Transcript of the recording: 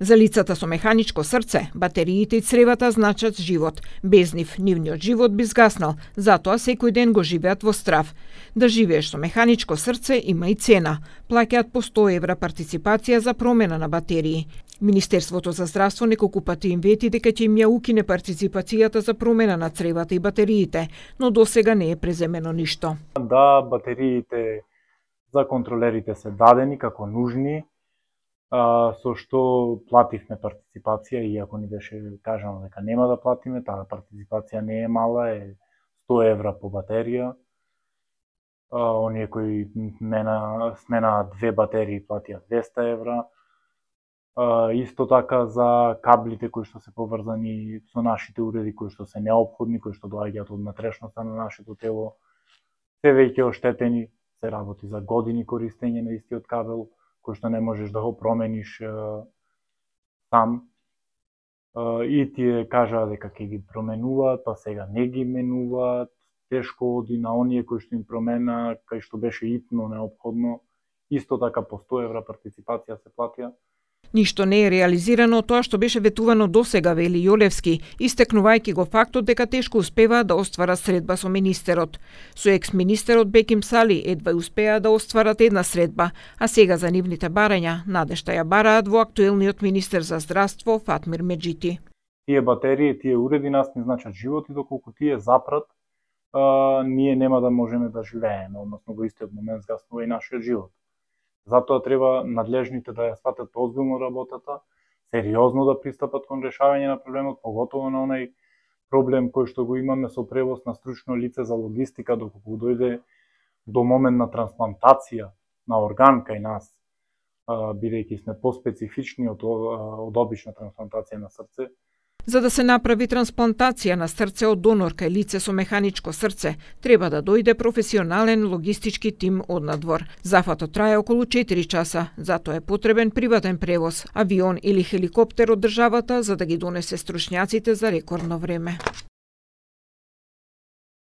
За лицата со механичко срце, батериите и цревата значат живот. Без нив, нивниот живот би згаснал, затоа секој ден го живеат во страв. Да живееш со механичко срце има и цена. Плаќаат по 100 евра партиципација за промена на батерии. Министерството за здравство неколку пати им вети дека ќе им ја укине партиципацијата за промена на цревата и батериите, но досега не е преземено ништо. Да, батериите за контролерите се дадени како нужни, со што плативме партиципација, иако ни беше кажано дека нема да платиме, таа партиципација не е мала, е 100 евра по батерија. Оние кои сменаат 2 батерии платиат 200 евра. Исто така за каблите кои што се поврзани со нашите уреди, кои што се неопходни, кои што доаѓаат од натрешноста на нашето тело, се веќе оштетени, се работи за години користење на истиот кабел, кој што не можеш да го промениш сам. И тие кажаа дека ќе ги променуваат, па сега не ги менуваат, тешко оди на оние кои што им промена, кај што беше итно неопходно. Исто така по 100 евра партиципација се платија. Ништо не е реализирано тоа што беше ветувано досега, вели Јолевски, истекнувајќи го фактот дека тешко успеваат да остварат средба со министерот. Со екс-министерот Беким Сали едва успеа да остварат една средба, а сега за нивните барања надежта ја бараат во актуелниот министер за здравство Фатмир Меджити. Тие батерии, тие уреди нас не значат живот и доколку тие запрат, ние нема да можеме да живееме, односно во истиот момент згаснува и нашиот живот. Затоа треба надлежните да ја сватат озбилно работата, сериозно да пристапат кон решавање на проблемот, поготово на онај проблем кој што го имаме со превоз на стручно лице за логистика, доколку дојде до момент на трансплантација на орган кај нас, бидејќи сме поспецифични од обична трансплантација на срце. За да се направи трансплантација на срце од донор кај лице со механичко срце, треба да дојде професионален логистички тим однадвор. Зафатот трае околу 4 часа, затоа е потребен приватен превоз, авион или хеликоптер од државата за да ги донесе стручњаците за рекордно време.